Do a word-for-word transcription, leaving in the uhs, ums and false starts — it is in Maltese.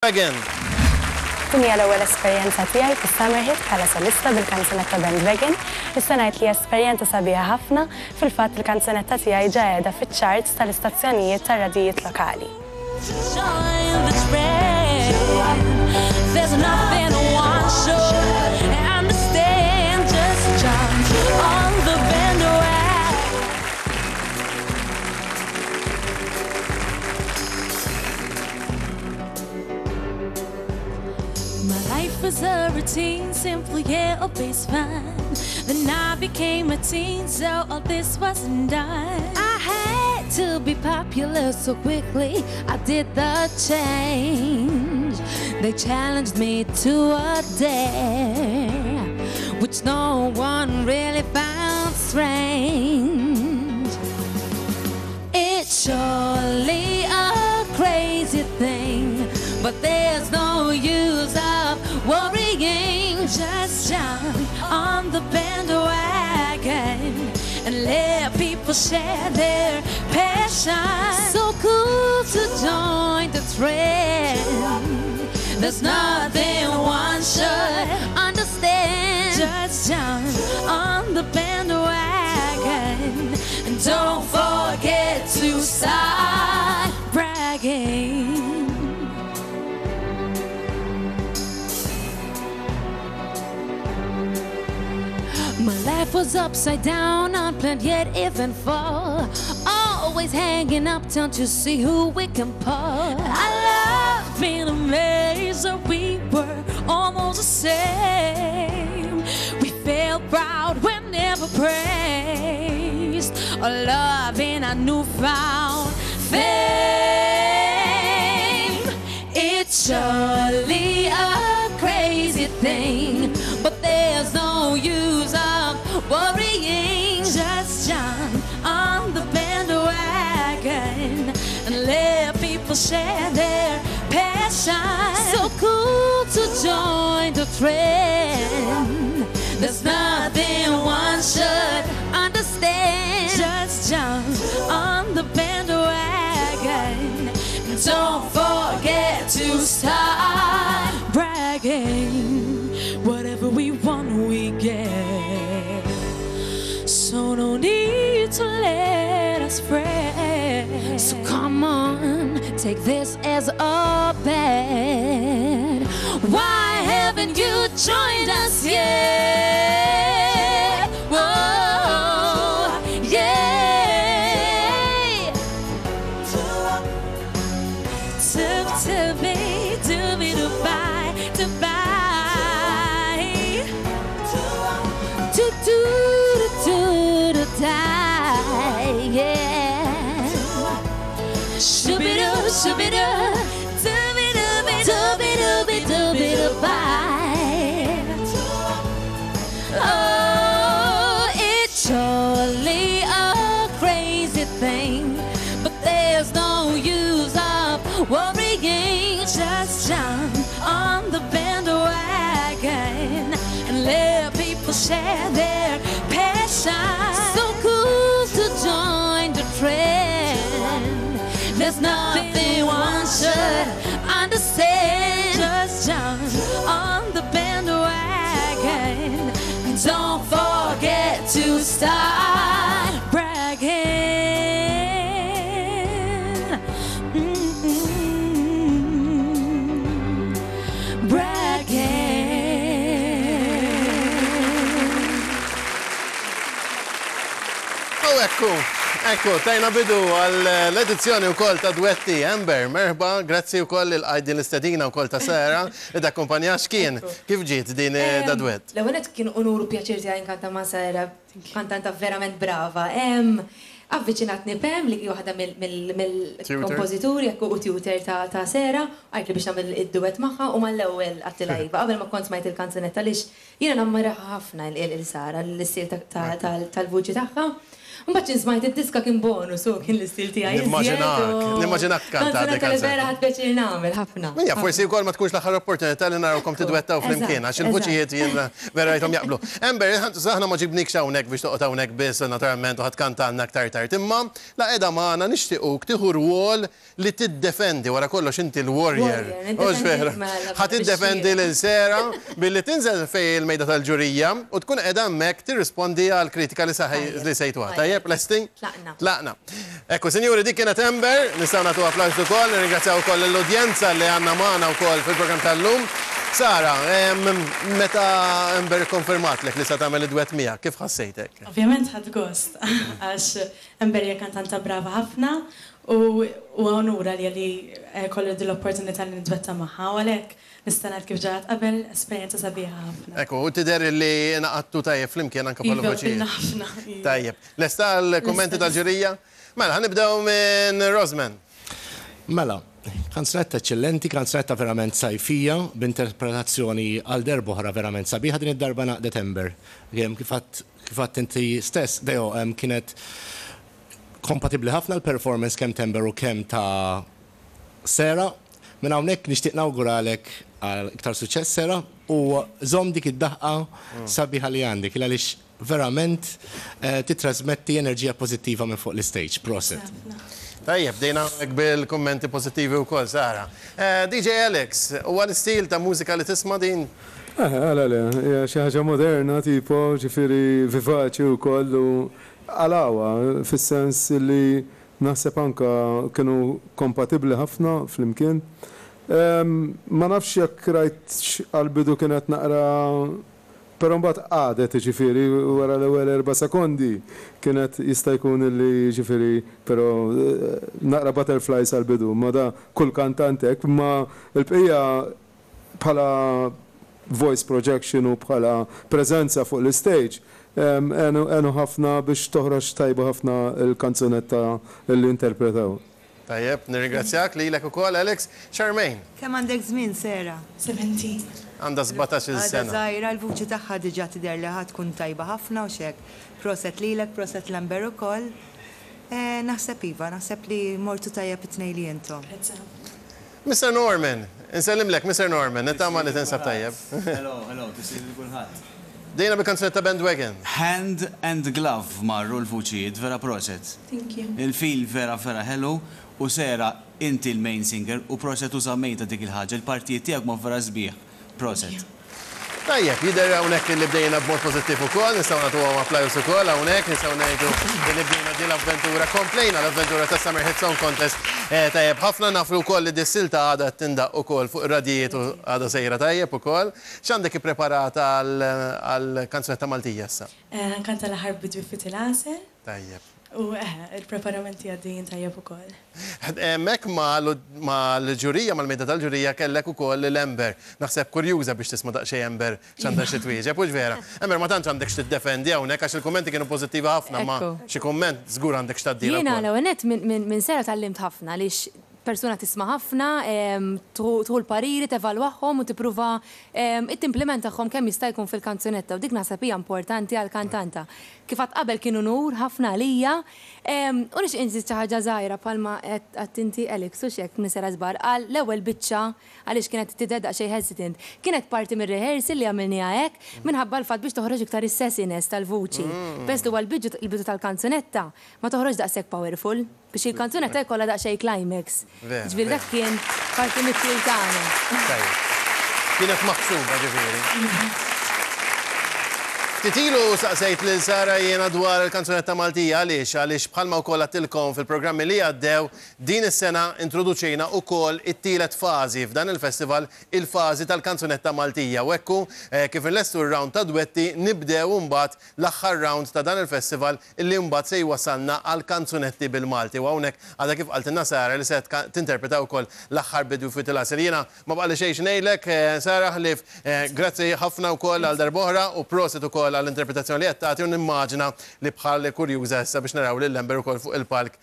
Again. Din hija l-ewwel esperjenza tiegħi fis-Summer Hit bħala solista bil-kanzunetta Bandwagon. Nista' ngħid li esperjenza sabiħa ħafna. Fil-fatt il-kanzunetta tiegħi ġa qiegħda fiċ-charts tal-istazzjonijiet tar-radijiet lokali. Join the trend. There's nothing one should understand. Just jump on the bandwagon. My life was a routine, simple, yeah, always fun. Then I became a teen, so all this wasn't done. I had to be popular so quickly, I did the change. They challenged me to a dare, which no one really found strange. It's surely a crazy thing, but there's no use of worrying. Just jump on the bandwagon and let people share their passion. So cool to join the trend. There's nothing one should understand. Just jump on the bandwagon and don't forget to start bragging. My life was upside down, unplanned yet eventful. Always hanging uptown to see who we can pull. I love being amazed that we were almost the same. We felt proud when never praised. Our love in our newfound fame. It's surely a crazy thing, but there's no use of worrying. Just jump on the bandwagon and let people share their passion. So cool to join the trend. There's nothing one should understand. Just jump on the bandwagon and don't forget to start bragging. Whatever we want, we get. So no need to let us fret. So come on, take this as a bet. Why haven't you joined us yet? Whoa, yeah. To, to be, to be, to buy, to buy. To do, to do, to die, yeah. Shooby-doo, shooby-doo, Dooby-dooby, dooby-dooby, dooby-doo-bye. Oh, it's surely a crazy thing, but there's no use of worrying. Just jump on the bandwagon and let people share their passion. So cool to join the trend. There's nothing one should understand. Just jump on the bandwagon and don't forget to start bragging. Mm-mm. Bragging. U ekku, ekku, tajna bidu għall-edizzjoni u koll ta' Dwetti Amber, merħba, grazzi u koll il-għajdin l-istedina u koll ta' Sara, id akkompanja x'kien, kif ġiet din da dwett? L-ewwel nett kien unur u pjaċir tiegħi nkanta ma' Sara, kantanta verament brava. Em, Avviċinatni Pam li hi waħda mill-kompożituri ekku u tutor ta' ta' Sara, għajt li biex nagħmel id-duett magħha u mal-ewwel għedtilha iva. Qabel ma kont smajt il-kanzunetta għaliex jiena nammiraha ħafna il-Sara, l-istil tal-vuċi tagħha. Mbagħad smajt id-diska kien bonus u kien l-istil tiegħi. Nimmaġinak, nimmaġinak tkanta dik kanzunetta li vera ħadt pjaċir nagħmel ħafna. Minja, forsi wkoll ma tkunx l-aħħar opportunità li narawkom tidwettaw flimkien, għax il-vuċijiet jien vera rajthom jaqblu. Amber, aħna ma ġibnikx hawnhekk biex toqgħod hawnhekk biss naturalment u ħadd kantalna aktar tard. Imma la qiegħda magħna nixtiequk tieħu rwol li tiddefendi wara kollox inti l-warrior. Hux vera. Ħa tiddefendi lil Sera billi tinżel fejn il-mejda tal-ġurija u tkun qiegħda hemmhekk tirrispondi għal kritika li li sejtuha. Tajjeb, lesti? Tlaqna. Tlaqna. Ekku, sinjuri, dik kienet Amber, nistgħu nagħtu applawż ukoll, nirringrazzjaw ukoll l-udjenza li għandna magħna wkoll fil-programm tal-lum. Sara, meta Amber konfermatlek li sa tagħmel id-dwett miegħek, kif ħassejtek? Ovvjament ħadt gost, għax Amber hija kantanta brava ħafna u onura li li kelli l-opportunità li nidwetta magħha u għalhekk nista' ngħid kif ġrat qabel esperjenza sabiħa ħafna. Ekku, u tidher li ngħaqadtu tajjeb flimkien anke bħala voċijiet. Ħafna. Tajjeb. Lesta l-kummenti tal-ġurija? Mela, ħa nibdew minn Rosman. Mela, kanzunetta eccellenti, kanzunetta verament sajfija, b'interpretazzjoni għal darb'oħra verament sabiħa din id-darba ngħaqdet Amber. Kif għedt inti stess, Deo, kienet kompatibli ħafna l-performance kemm t'Amber u kemm ta' Sera. Minn hawnhekk nixtieq nawguralek għal iktar suċċess Sera u żomm dik id-daħqa sabiħa li għandek għaliex verament titrasmetti enerġija pożittiva minn fuq l-stage. Proset. Tajjeb, bdejna bil-kommenti pozittivi u kollox, Sara. D J Alex, u għal-istil ta' mużika li tisma' din? Għala le, xi ħaġa moderna, tipo, ġifieri vivaċi u koll, u għalawa, fis-sens li naħseb anka kienu kompatibli ħafna flimkien. Ma nafx jekk rajt għal-bidu kienet naqra, però mbagħad għadet ġifieri wara l-ewwel erba' sekondi kienet jista' jkun li ġifieri però naqra butterflies għal-bidu, ma da kull kantant hekk, ma l-bqija bħala voice projection u bħala preżenza fuq l-stage għenu ħafna biex toħroġ tajba ħafna l-kanzunetta li interpretaw. Tajjeb, nirringrazzjak lilek ukoll, Alex. Charmaine. Kemm għandek żmien, Sera? seventeen. Għandha sbatax-il sena. Għadha żgħira, l-vuċi tagħha diġà tidher li ħa tkun tajba ħafna u xek. Proset lilek, proset l-Amber ukoll. Naħseb iva, naħseb li mortu tajjeb it-tnejn li intom. Mister Norman, insellimlek, Mister Norman, nittama li tinsab tajjeb. Hello, hello, tislim li kulħadd. Dejna bil-kanzunetta Bandwagon. Hand and glove marru l-vuċijiet, vera proset. Thank you. Il-fil vera vera hello. U Sera, inti l-main singer u proset u żammejta dik il-ħaġa, il-partijiet tiegħek ma vera sbieħ. Proset. Tajjeb, jidher hawnhekk li bdejna b'mod pożittiv ukoll, nistgħu nagħtuhom applawż ukoll hawnhekk, nistgħu ngħidu li bdejna din l-avventura, komplejna l-avventura ta' Summer Hit Song Contest. Tajjeb, ħafna nafu wkoll li dis-silta għadha tindaq ukoll fuq ir-radijiet u għadha sejra tajjeb ukoll. X'għandek ippreparata għall-kanzunetta Maltija issa? Nkanta l-aħħar bidwi fit il-għasel. Tajjeb. U il-preparamenti għaddejjin tajjeb ukoll. Hemmhekk mal-ġurija, mal-mejda tal-ġurija kellek ukoll l-Amber. Naħseb kurjuża biex tisma' daqsxejn Amber x'għandha xi twieġeb, hux vera? Amber, ma tantx għandek x'tiddefendi hawnhekk għax il-kummenti kienu pożittivi ħafna, ma xi kumment żgur għandek x'tgħaddilha. Jiena l-ewwel nett minn Sera tgħallimt ħafna għaliex persuna tisma' ħafna, tieħu l-pariri, tevalwahom u tippruva timplementahom kemm jista' jkun fil-kanzunetta u dik naħseb hija importanti għall-kantanta. Kif għad qabel kien unur ħafna għalija, u nixtieq inżid xi ħaġa żgħira bħalma qed inti Alex u x'hekk minn Sera żbar għal l-ewwel biċċa għaliex kienet tidher daqsxejn hesitant. Kienet parti mir-rehearsal li għamilniha hekk minħabba l-fatt biex toħroġ iktar is-sassiness tal-vuċi. Bes li huwa l-bidu tal-kanzunetta ma toħroġ daqshekk powerful biex il-kanzunetta jkollha daqsxejn climax. Ġifieri dak kien parti mit-til tagħna. Kienet maħsuba ġifieri. Titilu saqsejt lil Sara jiena dwar il-kanzunetta Maltija għaliex għaliex bħalma wkoll għattilkom fil-programmi li għaddew din is-sena introduċejna wkoll it-tielet fażi f'dan il-festival, il-fażi tal-kanzunetta Maltija. U ekku kif inlestu r-round ta' dwetti nibdew mbagħad l-aħħar round ta' dan il-festival illi mbagħad se jwasalna għal kanzunetti bil-Malti. U hawnhekk għadha kif qaltilna Sara li se tinterpreta wkoll l-aħħar bidwi fit il-għasel. Jiena ma baqali xejn ngħidlek Sara ħlief grazzi ħafna wkoll għal darb'oħra u proset ukoll għall-interpretazzjoni li qed tagħti u nimmaġina li bħal kurjuża issa biex naraw lil Amber ukoll fuq il-palk.